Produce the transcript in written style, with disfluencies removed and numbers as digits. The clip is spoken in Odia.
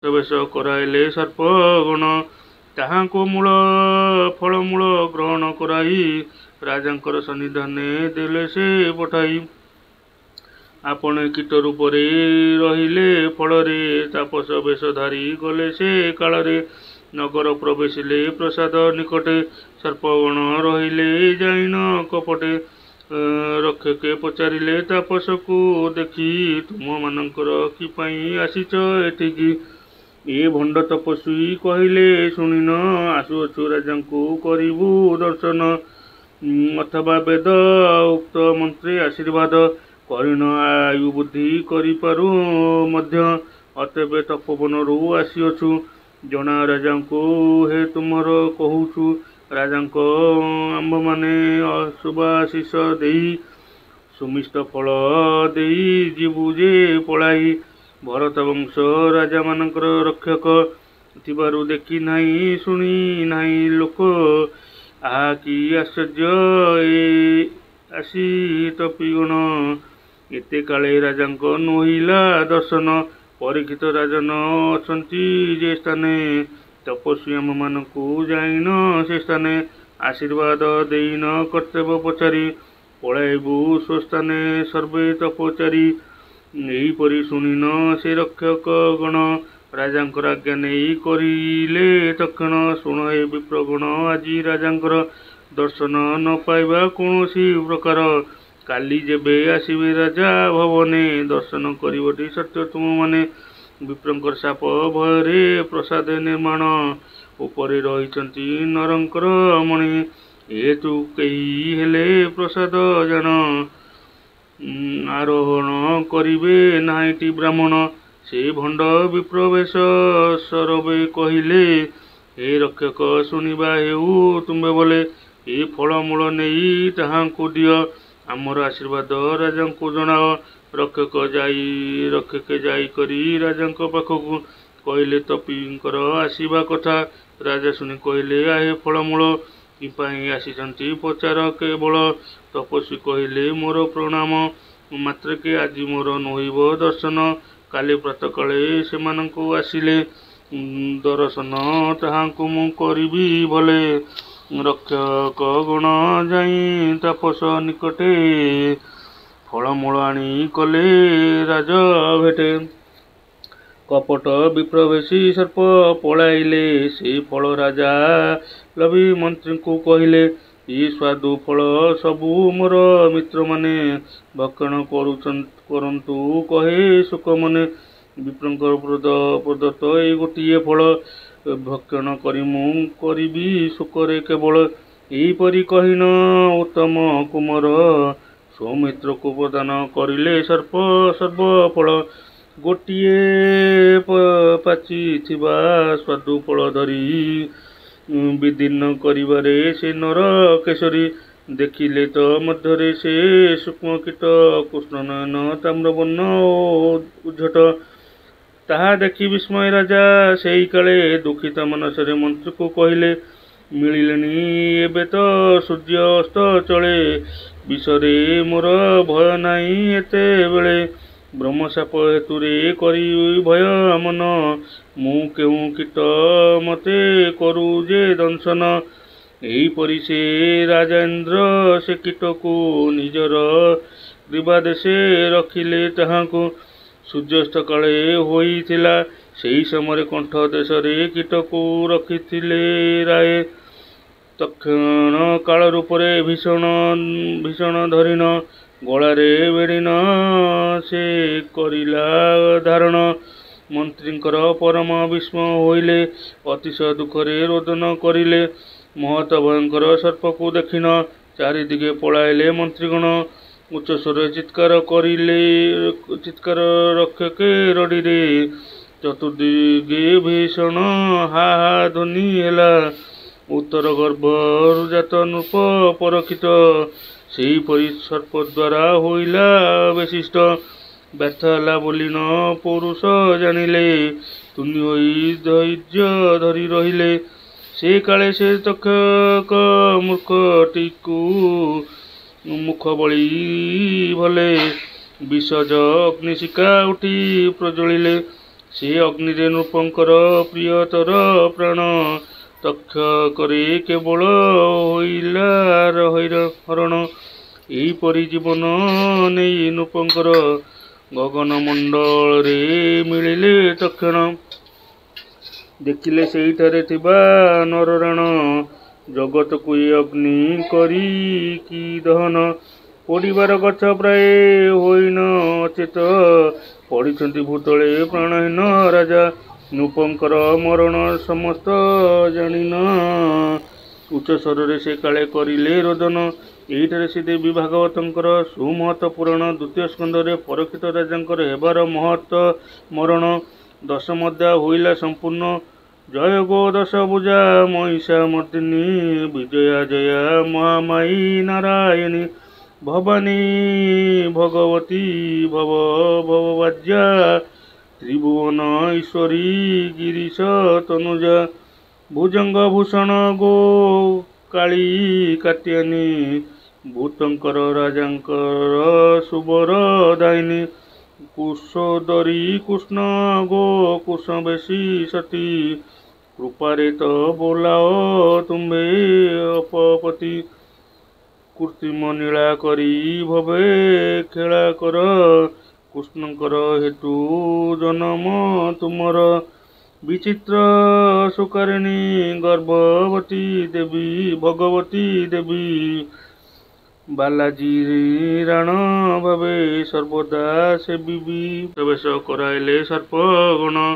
ବେଶ କରାଇଲେ ସର୍ପଗଣ। ତାହାଙ୍କୁ ମୂଳ ଫଳମୂଳ ଗ୍ରହଣ କରାଇ ରାଜାଙ୍କର ସନ୍ନିଧାନେ ଦେଲେ ସେ ପଠାଇ। ଆପଣା କୀଟ ରୂପରେ ରହିଲେ ଫଳରେ, ତାପସ ବେଶଧାରୀ ଗଲେ ସେ କାଳରେ। ନଗର ପ୍ରବେଶିଲେ ପ୍ରାସାଦ ନିକଟେ, ସର୍ପଗଣ ରହିଲେ ଯାଇଣ କପଟେ। ରକ୍ଷକେ ପଚାରିଲେ ତାପସକୁ ଦେଖି, ତୁମ୍ଭମାନଙ୍କର କିପାଇଁ ଆସିଛ ଏଠିକି? ଏ ଭଣ୍ଡ ତପସ୍ୱୀ କହିଲେ ଶୁଣିଣ, ଆସୁଅଛୁ ରାଜାଙ୍କୁ କରିବୁ ଦର୍ଶନ। ଅଥବା ବେଦ ଉକ୍ତ ମନ୍ତ୍ରେ ଆଶୀର୍ବାଦ କରିଣ ଆୟୁବୃଦ୍ଧି କରିପାରୁ ମଧ୍ୟ। ଅତେବେ ତପୋବନରୁ ଆସିଅଛୁ, ଜଣାଅ ରାଜାଙ୍କୁ ହେ ତୁମ୍ଭର କହୁଛୁ। ରାଜାଙ୍କ ଆମ୍ଭେମାନେ ଶୁଭାଶିଷ ଦେଇ, ସୁମିଷ୍ଟ ଫଳ ଦେଇ ଯିବୁ ଯେ ପଳାଇ। ଭରତବଂଶ ରାଜାମାନଙ୍କର ରକ୍ଷକ ଥିବାରୁ ଦେଖି ନାହିଁ ଶୁଣି ନାହିଁ ଲୋକ। ଆହା କି ଆଶ୍ଚର୍ଯ୍ୟ ଏ ଆସି ତପୀଗଣ, ଏତେ କାଳେ ରାଜାଙ୍କ ନୋହିଲା ଦର୍ଶନ। ପରୀକ୍ଷିତ ରାଜନ ଅଛନ୍ତି ଯେ ସ୍ଥାନେ, ତପସ୍ୱୀ ଆମ୍ଭମାନଙ୍କୁ ଯାଇଣ ସେ ସ୍ଥାନେ। ଆଶୀର୍ବାଦ ଦେଇଣ କର୍ତ୍ତବ୍ୟ ପଚାରି, ପଳାଇବୁ ସ୍ୱସ୍ଥାନେ ସର୍ବେ ତପଚାରୀ। ଏହିପରି ଶୁଣିଣ ସେ ରକ୍ଷକଗଣ, ରାଜାଙ୍କର ଆଜ୍ଞା ନେଇ କରିଲେ ତକ୍ଷଣ। ଶୁଣ ହେ ବିପ୍ରଗଣ, ଆଜି ରାଜାଙ୍କର ଦର୍ଶନ ନ ପାଇବା କୌଣସି ପ୍ରକାର। କାଲି ଯେବେ ଆସିବେ ରାଜା ଭବନେ, ଦର୍ଶନ କରିବଟି ସତ୍ୟ ତୁମ୍ଭେମାନେ। ବିପ୍ରଙ୍କର ଶାପ ଭୟରେ ପ୍ରାସାଦ ନିର୍ମାଣ ଉପରେ ରହିଛନ୍ତି ନରଙ୍କର ମଣି। ଏହେତୁ କେହି ହେଲେ ପ୍ରାସାଦ ଜାଣ ଆରୋହଣ କରିବେ ନାହିଁଟି ବ୍ରାହ୍ମଣ। ସେ ଭଣ୍ଡ ବିପ୍ରବେଶ ସରବେ କହିଲେ, ହେ ରକ୍ଷକ ଶୁଣିବା ହେଉ ତୁମ୍ଭେ ବୋଲେ। ଏ ଫଳମୂଳ ନେଇ ତାହାଙ୍କୁ ଦିଅ, ଆମର ଆଶୀର୍ବାଦ ରାଜାଙ୍କୁ ଜଣାଅ। ରକ୍ଷକେ ଯାଇକରି ରାଜାଙ୍କ ପାଖକୁ କହିଲେ ତପୀଙ୍କର ଆସିବା କଥା। ରାଜା ଶୁଣି କହିଲେ, ଆହେ ଫଳମୂଳ କିପାଇଁ ଆସିଛନ୍ତି ପଚାର କେବଳ। ତପସ୍ୱୀ କହିଲେ, ମୋର ପ୍ରଣାମ ମାତ୍ରକେ ଆଜି ମୋର ନୋହିବ ଦର୍ଶନ। କାଲି ପ୍ରାତଃକାଳେ ସେମାନଙ୍କୁ ଆସିଲେ ଦରଶନ ତାହାଙ୍କୁ ମୁଁ କରିବି ଭଲେ। ରକ୍ଷକଗଣ ଯାଇ ତାପସ ନିକଟେ ଫଳମୂଳ ଆଣି କଲେ ରାଜ ଭେଟେ। କପଟ ବିପ୍ରବେଶୀ ସର୍ପ ପଳାଇଲେ, ସେ ଫଳ ରାଜା ଲଭି ମନ୍ତ୍ରୀଙ୍କୁ କହିଲେ, ଏ ସ୍ୱାଦୁ ଫଳ ସବୁ ମୋର ମିତ୍ରମାନେ ଭକ୍ଷଣ କରନ୍ତୁ କହେ ଶୁକମନେ। ବିପ୍ରଙ୍କର ପ୍ରଦତ୍ତ ଏ ଗୋଟିଏ ଫଳ, ଭକ୍ଷଣ କରି ମୁଁ କରିବି ଶୋକରେ କେବଳ। ଏହିପରି କହିଣ ଉତ୍ତମ କୁମର ସ୍ୱମିତ୍ରକୁ ପ୍ରଦାନ କରିଲେ ସର୍ପ ସର୍ବଫଳ। ଗୋଟିଏ ପାଚିଥିବା ସ୍ୱାଦୁ ଫଳ ଧରି ବିଦୀର୍ଣ୍ଣ କରିବାରେ ସେ ନର କେଶରୀ। ଦେଖିଲେ ତ ମଧ୍ୟରେ ସେ ସୂକ୍ଷ୍ମ କୀଟ, କୃଷ୍ଣନୟନ ତାମ୍ରବର୍ଣ୍ଣ ଓ ଉଜ୍ଝଟ। ତାହା ଦେଖି ବିସ୍ମୟ ରାଜା ସେହି କାଳେ ଦୁଃଖିତ ମାନସରେ ମନ୍ତ୍ରୀକୁ କହିଲେ, ମିଳିଲେଣି ଏବେ ତ ସୂର୍ଯ୍ୟ ଅସ୍ତ ଚଳେ, ବିଷରେ ମୋର ଭୟ ନାହିଁ ଏତେବେଳେ। ବ୍ରହ୍ମଶାପ ହେତୁରେ କରି ଭୟ ମନ, ମୁଁ କେଉଁ କୀଟ ମୋତେ କରୁ ଯେ ଦଂଶନ। ଏହିପରି ସେ ରାଜେନ୍ଦ୍ର ସେ କୀଟକୁ ନିଜର ଗ୍ରୀବାଦେଶେ ରଖିଲେ ତାହାଙ୍କୁ। ସୂର୍ଯ୍ୟାସ୍ତ କାଳେ ହୋଇଥିଲା ସେହି ସମୟରେ କଣ୍ଠ ଦେଶରେ କୀଟକୁ ରଖିଥିଲେ ରାୟେ। ତକ୍ଷଣ କାଳ ରୂପରେ ଭୀଷଣ ଭୀଷଣ ଧରିଣ, ଗଳାରେ ବେଢ଼ିଣ ସେ କରିଲା ଧାରଣ। ମନ୍ତ୍ରୀଙ୍କର ପରମ ବିସ୍ମୟ ହୋଇଲେ, ଅତିଶୟ ଦୁଃଖରେ ରୋଦନ କରିଲେ। ମହତ ଭୟଙ୍କର ସର୍ପକୁ ଦେଖିଣ ଚାରିଦିଗେ ପଳାଇଲେ ମନ୍ତ୍ରୀଗଣ। ଉଚ୍ଚସ୍ୱରରେ ଚିତ୍କାର କରିଲେ, ଚିତ୍କାର ରକ୍ଷକେ ରଡ଼ିରେ। ଚତୁର୍ଦିଗେ ଭୀଷଣ ହା ହା ଧ୍ୱନି ହେଲା। ଉତ୍ତର ଗର୍ଭରୁ ଜାତ ନୃପ ପରକ୍ଷିତ, ସେହିପରି ସର୍ପ ଦ୍ୱାରା ହୋଇଲା ବେଶିଷ୍ଟ। ବ୍ୟର୍ଥ ହେଲା ବୋଲିଣ ପୌରୁଷ ଜାଣିଲେ, ତୁନି ହୋଇ ଧୈର୍ଯ୍ୟ ଧରି ରହିଲେ। ସେ କାଳେ ସେ ତକ୍ଷକ ମୂର୍ଖଟିକୁ ମୁଖ ବଳି ଭଲେ, ବିଷଜ ଅଗ୍ନିଶିଖା ଉଠି ପ୍ରଜ୍ୱଳିଲେ। ସେ ଅଗ୍ନିରେ ନୃପଙ୍କର ପ୍ରିୟତର ପ୍ରାଣ ତକ୍ଷକରେ କେବଳ ହୋଇଲା ହରଣ। ଏହିପରି ଜୀବନ ନେଇ ନୃପଙ୍କର ଗଗନମଣ୍ଡଳରେ ମିଳିଲେ ତକ୍ଷଣ। ଦେଖିଲେ ସେହିଠାରେ ଥିବା ନରରାଣ ଜଗତକୁ ଏ ଅଗ୍ନି କରି କି ଦହନ। ପୋଡ଼ିବାର ଗଛ ପ୍ରାୟେ ହୋଇଣ ଅଚେତ ପଡ଼ିଛନ୍ତି ଭୂତଳେ ପ୍ରାଣହୀନ ରାଜା। ନୃପଙ୍କର ମରଣ ସମସ୍ତ ଜାଣିଣ ଉଚ୍ଚସ୍ୱରରେ ସେ କାଳେ କରିଲେ ରୋଦନ। ଏହିଠାରେ ଶ୍ରୀଦେବୀ ଭାଗବତଙ୍କର ସୁମହତ୍ ପୁରାଣ ଦ୍ୱିତୀୟ ସ୍କନ୍ଧରେ ପରୀକ୍ଷିତ ରାଜାଙ୍କର ହେବାର ମହତ୍ ମରଣ ଦଶମ ଅଧ୍ୟାୟ ହୋଇଲା ସମ୍ପୂର୍ଣ୍ଣ। ଜୟ ଗୋ ଦଶଭୁଜା ମହିଷାମର୍ଦ୍ଦିନୀ ବିଜୟା ଜୟା ମହାମାୟି ନାରାୟଣୀ ଭବାନୀ ଭଗବତୀ ଭବ ଭବଭାଜ୍ୟା ତ୍ରିଭୁବନ ଈଶ୍ୱରୀ ଗିରୀଶ ତନୁଜା। ଭୁଜଙ୍ଗ ଭୂଷଣ ଗୋ କାଳୀ କାତ୍ୟାୟନୀ ଭୂତଙ୍କର ରାଜାଙ୍କର ସୁବର ଦାୟିନୀ। କୁଶୋଦରୀ କୃଷ୍ଣ ଗୋ କୃଷ୍ଣବେଶୀ ସତୀ କୃପାରେ ତ ବୋଲାଅ ତୁମ୍ଭେ ଅପପତି। କୃତ୍ରିମ ଲୀଳା କରି ଭବେ ଖେଳା କର କୃଷ୍ଣଙ୍କର ହେତୁ ଜନମ ତୁମର। ବିଚିତ୍ର ସୁକାରିଣୀ ଗର୍ଭବତୀ ଦେବୀ ଭଗବତୀ ଦେବୀ ବାଲାଜୀ ରାଣ ଭାବେ ସର୍ବଦା ସେବିବି। ବେଶ କରାଇଲେ ସର୍ପଗଣ।